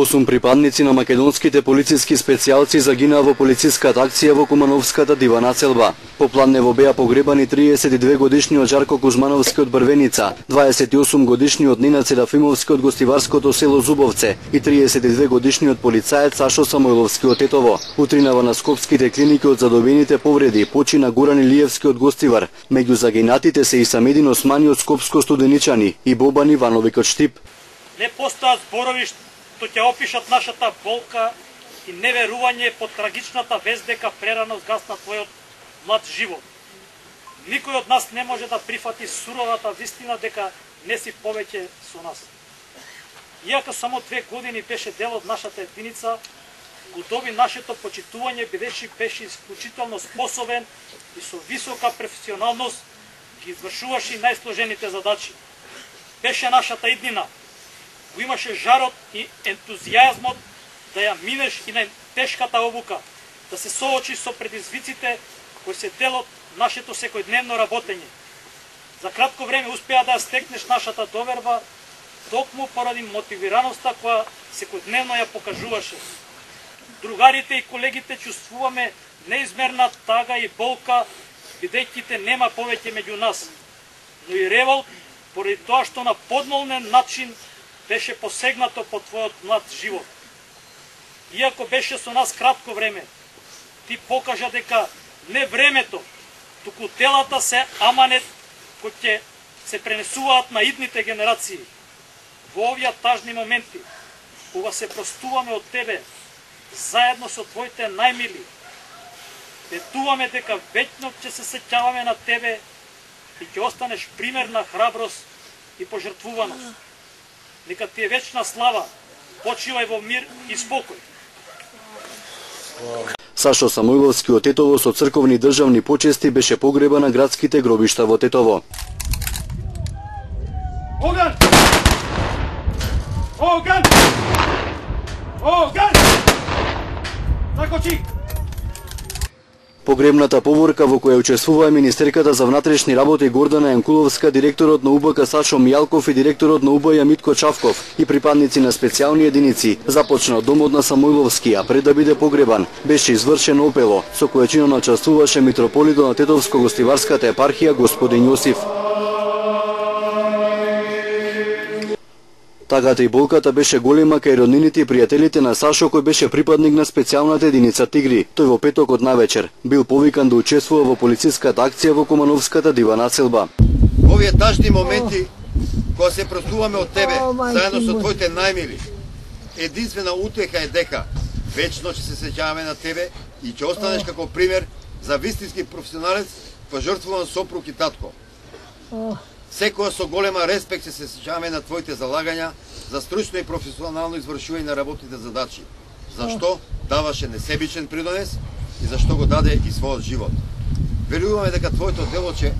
8 припадници на македонските полициски специјалци загинаа во полициската акција во Кумановската дива населба. По Пладнево беа погребани 32 годишниот Жарко Кузмановски од Брвеница, 28 годишниот Ненад Серафимовски од гостиварското село Зубовце и 32 годишниот полицаец Сашо Самойловски од Тетово. Утринава на скопските клиники од задобените повреди почина Гуран Илиевски од Гостивар. Меѓу загинатите се и Самедин Османи од Скопско Студеничани и Бобан Ивановиќ од Штип. Не постојат зборови што ќе опишат нашата болка и неверување по трагичната вест дека прерано згасна твојот млад живот. Никој од нас не може да прифати суровата вистина дека не си повеќе со нас. Иако само 2 години беше дел од нашата единица, го доби нашето почитување бидејќи беше исклучително способен и со висока професионалност ги извршуваше најсложените задачи. Беше нашата иднина. Го имаше жарот и ентузијазмот да ја минеш и најтешката обука, да се соочи со предизвиците кои се дел од нашето секојдневно работење. За кратко време успеа да ја стекнеш нашата доверба, токму поради мотивираноста која секојдневно ја покажуваше. Другарите и колегите чувствуваме неизмерна тага и болка, бидејќи те нема повеќе меѓу нас, но и револт поради тоа што на подмолнен начин беше посегнато по твојот млад живот. Иако беше со нас кратко време, ти покажа дека не времето, туку делата се аманет кои ќе се пренесуваат на идните генерации. Во овие тажни моменти, кога се простуваме од тебе, заедно со твоите најмили, ветуваме дека веќно ќе се сеќаваме на тебе и ќе останеш пример на храброст и пожртвуваност. Нека ти е вечна слава, почивај во мир и спокој. Сашо Самойловски од Тетово со црковни државни почести беше погреба на градските гробишта во Тетово. Оган! Оган! Оган! Закочи! Погребната поворка во која учествуваа министерката за внатрешни работи Гордана Јанкуловска, директорот на УБК Сашо Мијалков и директорот на УБЈ Митко Чавков и припадници на специјални единици започна од домот на Самойловски, а пред да биде погребан беше извршено опело, со кое чинно учествуваше митрополитот на Тетовско-гостиварската епархија господин Јосиф. Тагата и болката беше голема кај роднините и пријателите на Сашо, кој беше припадник на специјалната единица Тигри. Тој во петокот навечер бил повикан да учествува во полициската акција во Кумановската дива населба. Овие тажни моменти, кога се простуваме од тебе, заедно со твоите најмили, единствена утеха е дека вечно ќе се сеќаваме на тебе и ќе останеш како пример за вистински професионалец, пожртвуван сопруг и татко. Секоја со голема респект се сеќаваме на твоите залагања за стручно и професионално извршување на работните задачи. Зашто даваше несебичен придонес и зашто го даде и својот живот. Веруваме дека твоето дело ќе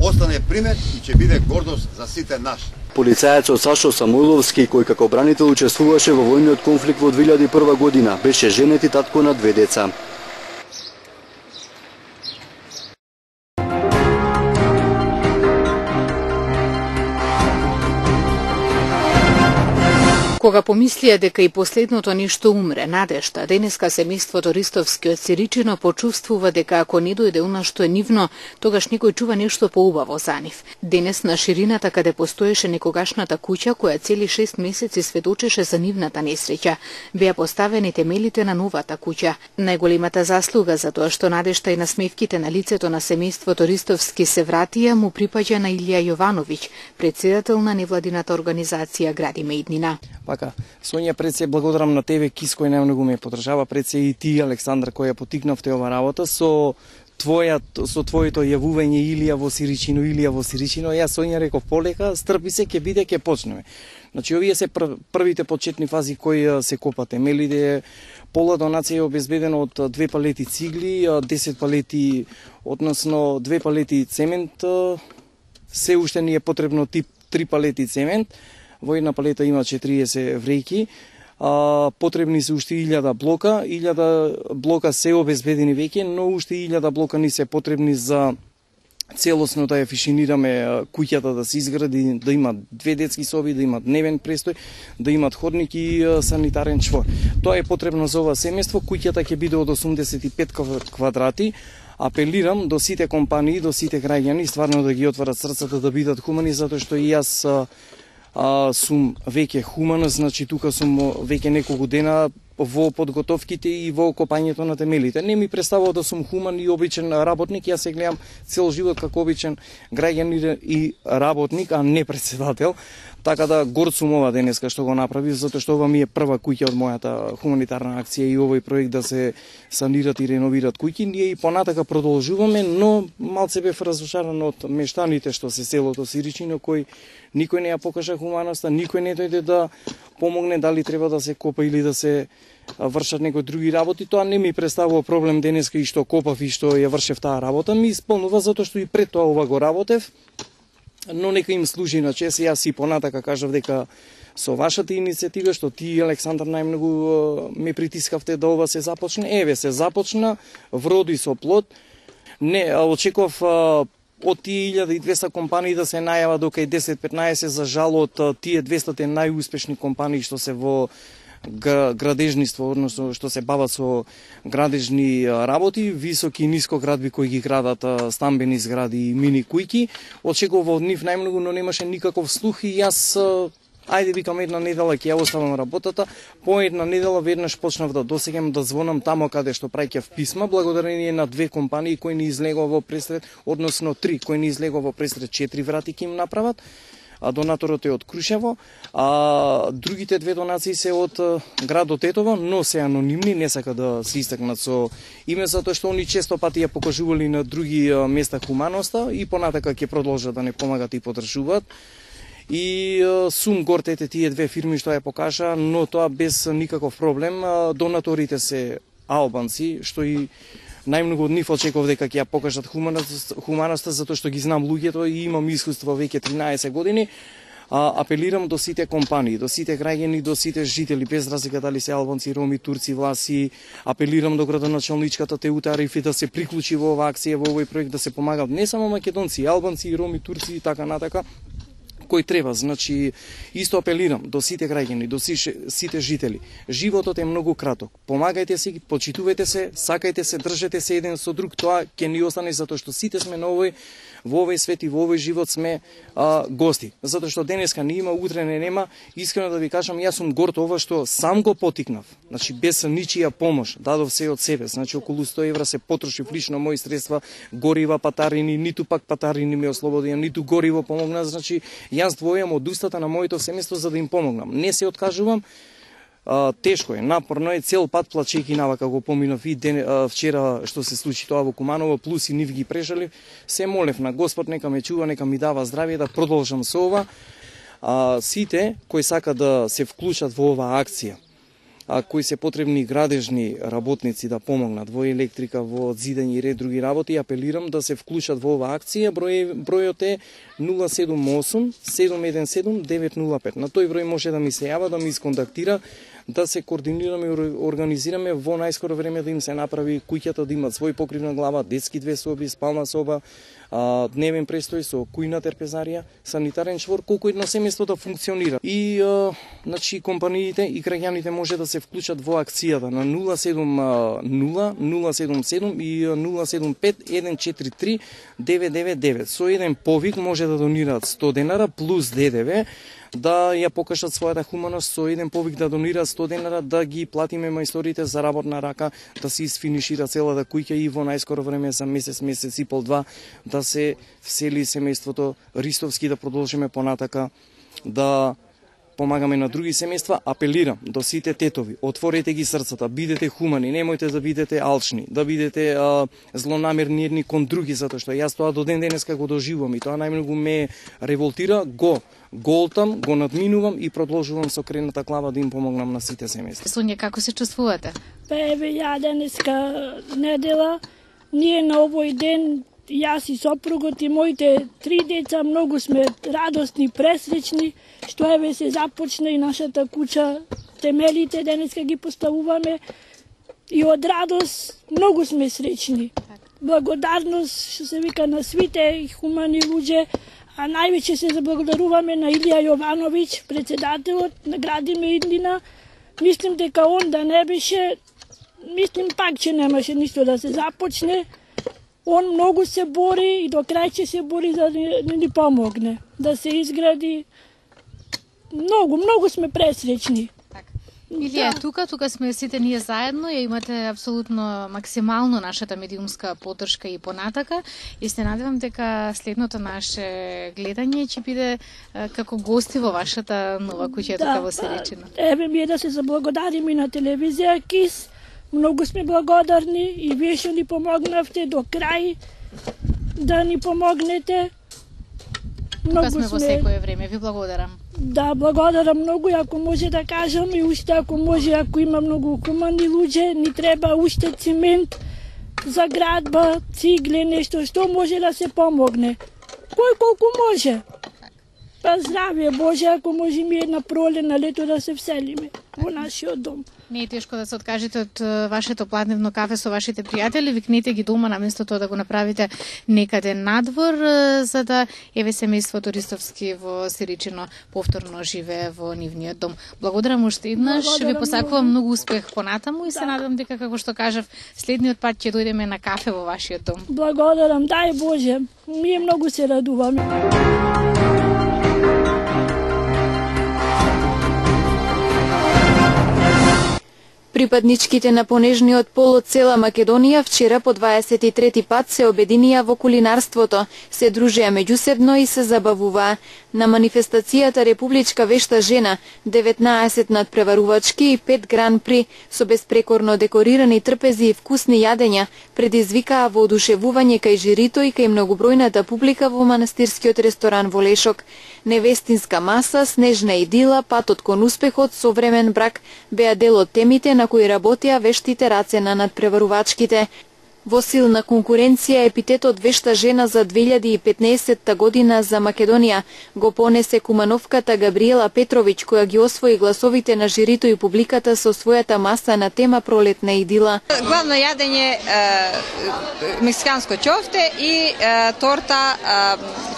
остане пример и ќе биде гордост за сите наши. Полицајецот Сашо Самойловски, кој како бранител учествуваше во војниот конфликт во 2001 година, беше женет и татко на 2 деца. Кога помислија дека и последното ништо умре, надежта, денеска семејството Ристовски од Сиричино почувствува дека ако не дојде она што е нивно, тогаш некој чува нешто поубаво за нив. Денес на ширината каде постоеше некогашната куќа, која цели 6 месеци сведочеше за нивната несреќа, беа поставени темелите на новата куќа. Најголемата заслуга за тоа што надежта и насмевките на лицето на семејството Ристовски се вратија му припаѓа на Илија Јовановиќ, претседател на невладината организација Градиме иднина. Пака, Сонја, пред се благодарам на тебе, Кис, кој најмногу ме подржава, пред се и ти, Александр, кој ја потикнавте ова работа, со твоето јавување Илија во Сиричино, Јас Сонја реков полека, стрпи се, ќе биде, ќе почнеме. Значи, овие се првите почетни фази кои се копа темелите. Пола донација е обезбедена од 2 палети цигли, 10 палети, односно 2 палети цемент, се уште ни е потребно 3 палети цемент. Во една палета има 40 врејки, потребни се уште 1000 блока, 1000 блока се обезбедени веќе, но уште 1000 блока ни се потребни за целосно да ја фишинираме куќата да се изгради, да има 2 детски соби, да има дневен престој, да имат ходник и санитарен чвор. Тоа е потребно за ова семејство. Куќата ќе биде од 85 квадрати. Апелирам до сите компании, до сите граѓани, стварно да ги отворат срцата, да бидат хумани, затоа што и јас сум веќе хуман, значи тука сум веќе неколку дена во подготовките и во копањето на темелите. Не ми представува да сум хуман и обичен работник, јас се гледам цел живот како обичен граѓанин и работник, а не председател. Така да горд сум ова денеска што го направи, затоа што ова ми е прва куќа од мојата хуманитарна акција и овој проект да се санират и реновират куќи. Ние и понатака продолжуваме, но малце бев разочаран од мештаните што се селото Сиричино, кој никој не ја покажа хуманоста, никој не дојде да помогне дали треба да се копа или да се вршат некои други работи. Тоа не ми представува проблем денеска и што копав и што ја вршев таа работа, ми исполнува затоа што и пред тоа ова го работев. Но нека им служи на чест. Јас и понатака кажав дека со вашата иницијатива, што ти, Александар, најмногу ме притискавте да ова се започне, еве се започна, вроди со плод. Не, очекував од тие 1200 компании да се најава до кај 10-15, за жал од тие 200 најуспешни компании што се во градежниство, односно што се бават со градежни работи, високи и ниско градби кои ги градат стамбени згради и мини кујки. Очекував од нив најмногу, но немаше никаков слух и јас ајде викам една недела ќе ја оставам работата. По една недела веднаш почнав да досеќам да звонам тамо каде што праќав писма, благодарение на 2 компании кои ни излегува во пресред, односно 3 кои ни излегува во пресред 4 врати ќе им направат. Донаторот е од Крушево, а другите 2 донации се од градот Тетово, но се анонимни, не сака да се истакнат со име, затоа што они често пати ја покажували на други места хуманоста и понатака ќе продолжат да не помагат и подржуваат. И сум горд ете тие 2 фирми што ја покажа, но тоа без никаков проблем. Донаторите се албанци, што и најмногу од нив очекував дека ќе ја покажат хуманоста, затоа што ги знам луѓето и имам искуство веќе 13 години. Апелирам до сите компании, до сите граѓани, до сите жители, без разлика дали се албанци, роми, турци, власи. Апелирам до градоначалничката Теута Арифи да се приклучи во оваа акција, во овој проект, да се помагат не само македонци, албанци, роми, турци и така натака, кој треба. Значи, исто апелирам до сите граѓани, до сите жители. Животот е многу краток. Помагајте си, почитувајте се, сакајте се, држете се еден со друг. Тоа ќе ни остане затоа што сите сме на во овој свет и во овој живот сме гости. Затоа што денеска не има, утре не нема. Искрено да ви кажам, јас сум горд ова што сам го потикнав. Значи без ничија помош, дадов се од себе. Значи околу 100 евра се потрошив лично мои средства, горива, патарини, ниту пак патарини ме ослободија, ниту гориво помогна. Значи јас двојам од устата на моето семејство за да им помогнам. Не се откажувам. Тешко е, напорно е, цел пат плачејќи навака го поминав и вчера што се случи тоа во Куманово, плюс и нив ги прешалив. Се молев на Господ нека ме чува, нека ми дава здравје да продолжам со ова. Сите кои сака да се вклучат во оваа акција, кои се потребни градежни работници да помогнат во електрика, во зидање и ред други работи, апелирам да се вклучат во оваа акција. Бројот е 078 717 905. На тој број може да ми се јава, да ми исконтактира, да се координираме и организираме во најскоро време да им се направи куќата да имат свој покривна глава, детски 2 соби, спална соба, дневен престој со кујна терпезарија, санитарен чвор, колку едно семејство да функционира. И значи компаниите и граѓаните може да се вклучат во акцијата на 070 077 и 075 143 999. Со еден повик може да донираат 100 денара плюс ДДВ, да ја покажат својата хуманост, со еден повик да донираат 100 денара, да ги платиме мајсторите за работна рака, да се изфинишира целата куќа и во најскоро време за месец и пол, 2, да се всели семејството Ристовски, да продолжиме понатака да помагаме на други семејства. Апелирам до сите тетови, отворете ги срцата, бидете хумани, немојте да бидете алчни, да бидете злонамерни едни кон други, затоа што јас тоа до ден денеска го доживувам и тоа најмногу ме револтира, го голтам, го надминувам и продолжувам со крената глава да им помогнам на сите семејства. Сонја, како се чувствувате? Еве, ја денеска недела, ние на овој ден, јас и сопругот и моите 3 деца многу сме радосни, пресречни, што еве се започна и нашата куќа, темелите денеска ги поставуваме и од радост многу сме среќни. благодарност, што се вика, на свите хумани луѓе, а највеќе се заблагодаруваме на Илија Јовановиќ, председателот на Градиме Идлина. Мислим дека он да не беше, мислим пак, че немаше ништо да се започне. Он многу се бори и до крај ќе се бори за да ни помогне, да се изгради. Многу сме пресречни. Илија, тука сме сите ние заедно, ја имате апсолутно максимално нашата медиумска поддршка и понатака и се надевам дека следното наше гледање ќе биде како гости во вашата нова куќа тука во Сиричино. Еве ми да се заблагодариме и на телевизија КИС. Многу сме благодарни и вие што ни помогнавте до крај да ни помогнете. Тука сме во секое време, ви благодарам. Да, благодарам многу, ако може да кажам и уште ако може, ако има многу хумани луѓе, ни треба уште цимент за градба, цигле, нешто што може да се помогне. Кој колку може. Па здравие Боже, ако може ми една пролет на лето да се вселиме во нашиот дом. Не е тешко да се откажете од вашето пладневно кафе со вашите пријатели, викнете ги дома наместо тоа да го направите некаде надвор, за да еве семејството Ристовски во Сиричино повторно живее во нивниот дом. Благодарам уште еднаш, ви посакувам многу успех понатаму и се надевам дека, како што кажав, следниот пат ќе дојдеме на кафе во вашиот дом. Благодарам, дај Боже, ние многу се радуваме. Припадничките на понежниот пол од цела Македонија вчера по 23 пат се обединија во кулинарството, се дружеа меѓусебно и се забавуваа. На манифестацијата Републичка вешта жена, 19 надпреварувачки и 5 гран-при со беспрекорно декорирани трпези и вкусни јадења предизвикаа воодушевување кај жирито и кај многобројната публика во манастирскиот ресторан во Лешок. Невестинска маса, снежна идила, патот кон успехот, современ брак беа дел од темите на кои работеа вештите раце на надпреварувачките. Во силна конкуренција епитетот вешта жена за 2015 година за Македонија го понесе кумановката Габриела Петровиќ, која ги освои гласовите на жирито и публиката со својата маса на тема пролетна идила. Главно јадење мексиканско ќофте и торта,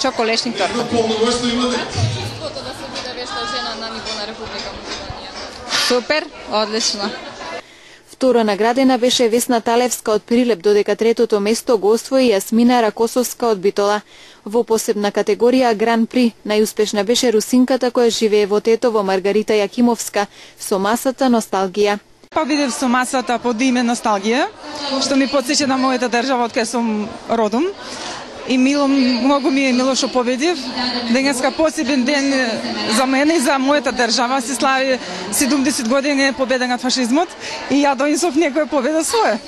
чоколешник торта. Да се биде вешта жена на ниво на Република Македонија. Супер, одлично. Втора наградена беше Весна Талевска од Прилеп, додека третото место го освои Јасмина Ракосовска од Битола. Во посебна категорија Гран-при најуспешна беше русинката која живее во Тетово, Маргарита Јакимовска, со масата Носталгија. Победив со масата под име Носталгија, што ми потсече на мојата држава од кај сум родом. И многу ми е мило што победив. Денеска посебен ден за мене и за мојата држава. Се слави 70 години победа над фашизмот и ја донесов некоја победа своја.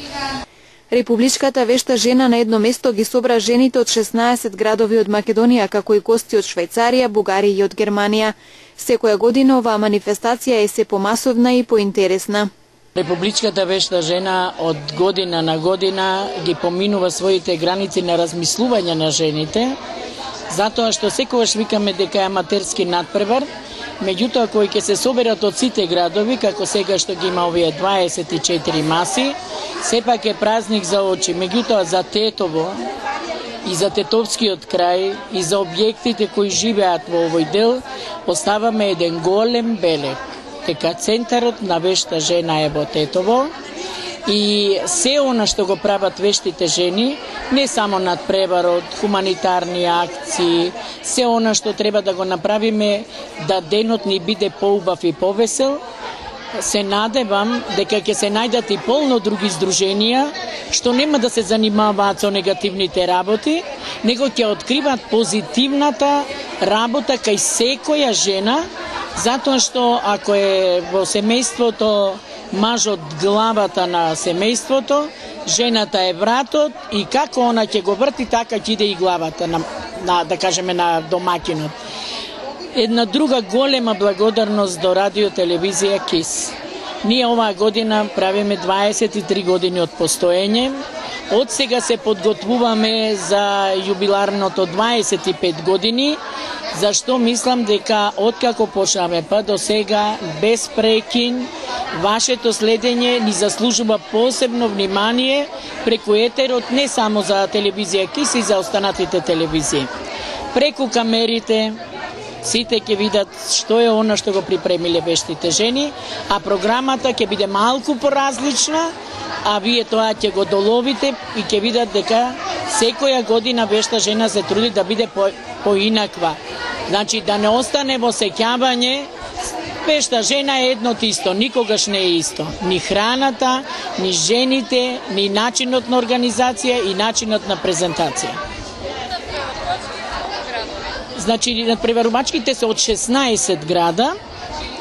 Републичката вешта жена на едно место ги собра жените од 16 градови од Македонија, како и гости од Швајцарија, Бугарија и од Германија. Секоја година оваа манифестација е се помасовна и поинтересна. Републичката вешта жена од година на година ги поминува своите граници на размислување на жените, затоа што секогаш викаме дека е аматерски надпревар, меѓутоа кои ќе се соберат од сите градови, како сега што ги има овие 24 маси, сепак е празник за очи, меѓутоа за Тетово и за Тетовскиот крај и за објектите кои живеат во овој дел, оставаме еден голем белег. Дека центарот на вешта жена е во Тетово и се она што го прават вештите жени, не само надпреварот, хуманитарни акции, се она што треба да го направиме да денот ни биде поубав и повесел, се надевам дека ќе се најдат и полно други здруженија што нема да се занимаваат со негативните работи, него ќе откриваат позитивната работа кај секоја жена, затоа што ако е во семејството мажот главата на семејството, жената е вратот и како она ќе го врти, така ќе иде и главата на да кажеме на домаќинот. Една друга голема благодарност до радио телевизија КИС. Ние оваа година правиме 23 години од постоење. Од сега се подготвуваме за јубиларното 25 години, зашто мислам дека откако почнаме па до сега без прекин вашето следење ни заслужува посебно внимание преку етерот, не само за телевизија КИС и за останатите телевизии. Преку камерите, сите ќе видат што е она што го припремиле вештите жени, а програмата ќе биде малку поразлична, а вие тоа ќе го доловите и ќе видат дека секоја година вешта жена се труди да биде поинаква. Значи да не остане во сеќавање, вешта жена е едно исто, никогаш не е исто. Ни храната, ни жените, ни начинот на организација и начинот на презентација. Значи, надпреварувачките се од 16 града,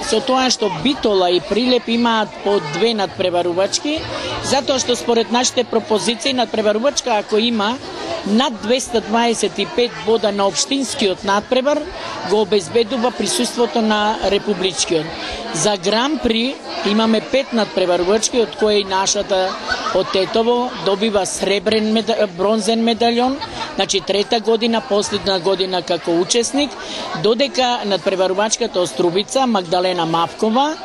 со тоа што Битола и Прилеп имаат по 2 надпреварувачки, затоа што според нашите пропозиции надпреварувачка ако има над 225 бода на општинскиот надпревар, го обезбедува присуството на републичкиот. За Гран При имаме 5 надпреварувачки, од кои нашата од Тетово добива бронзен медалјон, значи 3-та година, последна година како учесник, додека надпреварувачката од Струбица, Магдалена Мавкова,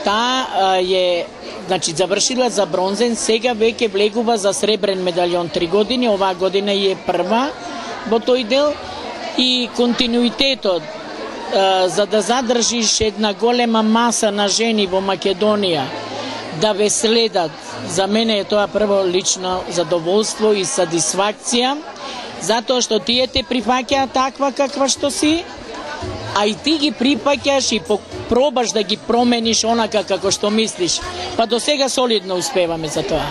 таа е завршила за бронзен, сега веќе влегува за сребрен медалјон 3 години, оваа година е прва во тој дел и континуитетот за да задржиш една голема маса на жени во Македонија да ве следат, за мене е тоа прво лично задоволство и сатисфакција, затоа што тие те прифаќаат таква каква што си, а и ти ги припаќаш и пробаш да ги промениш онака како што мислиш. Па до сега солидно успеваме за тоа.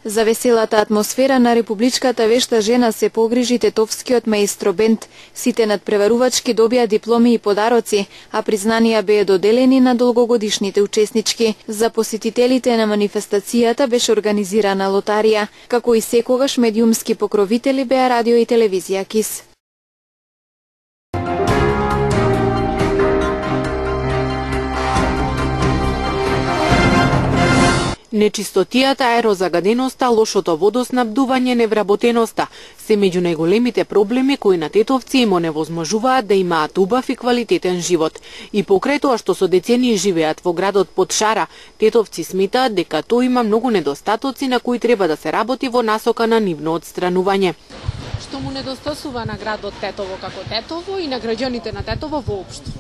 За веселата атмосфера на републичката вешта жена се погрижи тетовскиот маестро бенд. Сите надпреварувачки добија дипломи и подароци, а признанија беа доделени на долгогодишните учеснички. За посетителите на манифестацијата беше организирана лотарија, како и секогаш медиумски покровители беа радио и телевизија КИС. Нечистотијата, аерозагаденоста, лошото водоснабдување, невработеноста се меѓу најголемите проблеми кои на тетовци им оневозможуваат да имаат убав и квалитетен живот. И покрај тоа што со децении живеат во градот под шара, тетовци сметаат дека тој има многу недостатоци на кои треба да се работи во насока на нивно отстранување. Што му недостасува на градот Тетово како Тетово и на граѓаните на Тетово воопшто?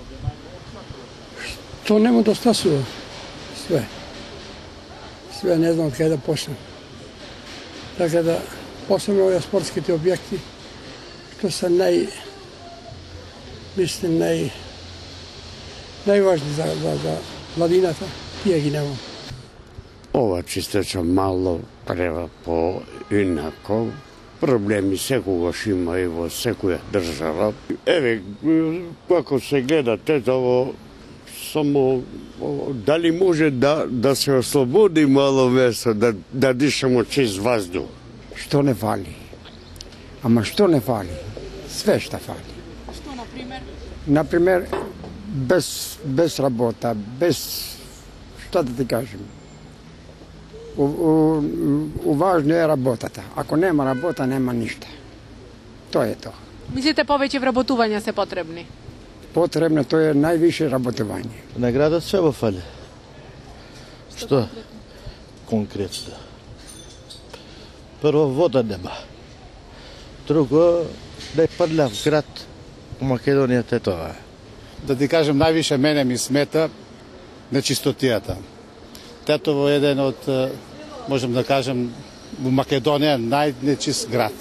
Што не му достасува? Све. Све не знам каде да почнем. Така да, посебно овие спортските објекти, што се најважни за младината, тие ги немам. Ова чистача мало треба поинако. Проблеми секогаш има и во секоја држава. Еве, како се гледа Тетово, само дали може да се ослободи мало место, да дишamo чист ваздух. Што не фали? Ама што не фали? Све што фали. Што, например? Например, без работа, без... Што да ти кажем? Важно е работата. Ако нема работа, нема ништа. Тоа е тоа. Мислите повеќе вработувања се потребни? Потребно, тоа е највише работување. На градот се во фали. Што? Конкретно. Прво, вода нема. Друго, најпрлав град у Македонија е тоа. Да ти кажем, највише мене ми смета нечистотијата. Тетово е еден од, можем да кажем, во Македонија најнечист град.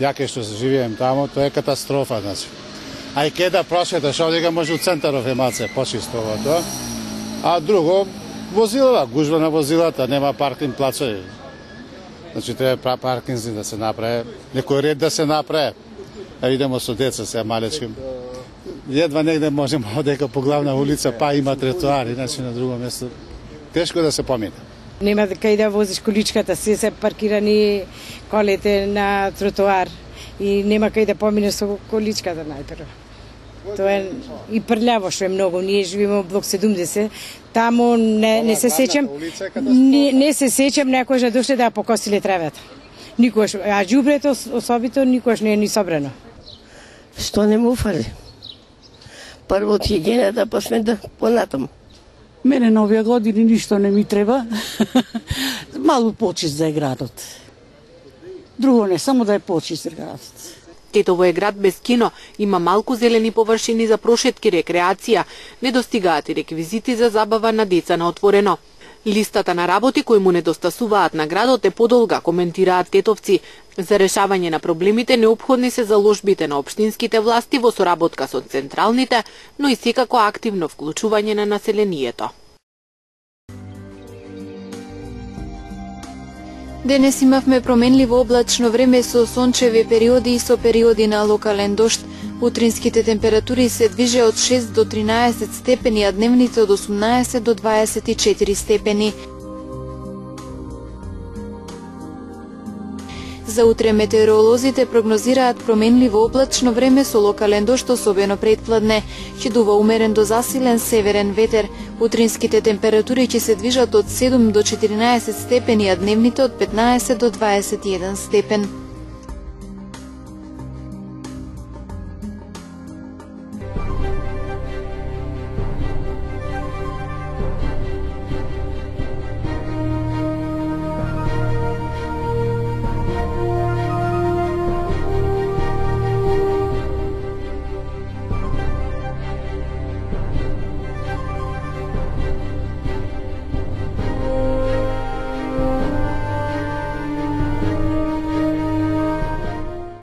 Ја кај што живеем тамо, тоа е катастрофа, значи. А и кај да прошеташ, одека може у центаров емаце почисто ова тоа. А друго, возилата, гужва на возилата, нема паркинг плацови. Значи треба паркинзи да се направи, некој ред да се направи. А идемо со деца се малечки. Едва негде можеме одека по главна улица, па има тротоари, значи на друго место. Тешко да се помине. Нема кај да возиш количката, се паркирани колите на тротоар и нема кај да поминеш со количката најпрво. Тоа е и прљаво што е многу. Ние живееме во блок 70, таму не се сеќам, не се сеќам некој да дошле да покосиле тревата. Никош, а џубрето особито никош не е ни собрано. Што не му фали? Прво од хигиената, па сме да понатаму. Мене на овие години ништо не ми треба. Малку почист да е градот. Друго не, само да е почист градот. Тетово е град без кино, има малку зелени површини за прошетки, рекреација, недостигаат и реквизити за забава на деца на отворено. Листата на работи кои му недостасуваат на градот е подолга, коментираат тетовци. За решавање на проблемите неопходни се заложбите на општинските власти во соработка со централните, но и секако активно вклучување на населението. Денес имавме променливо облачно време со сончеви периоди и со периоди на локален дожд. Утринските температури се движе од 6 до 13 степени, а дневните од 18 до 24 степени. За утре метеоролозите прогнозираат променливо облачно време со локален дожд, особено предпладне. Ќе дува умерен до засилен северен ветер. Утринските температури ќе се движат од 7 до 14 степени, а дневните од 15 до 21 степен.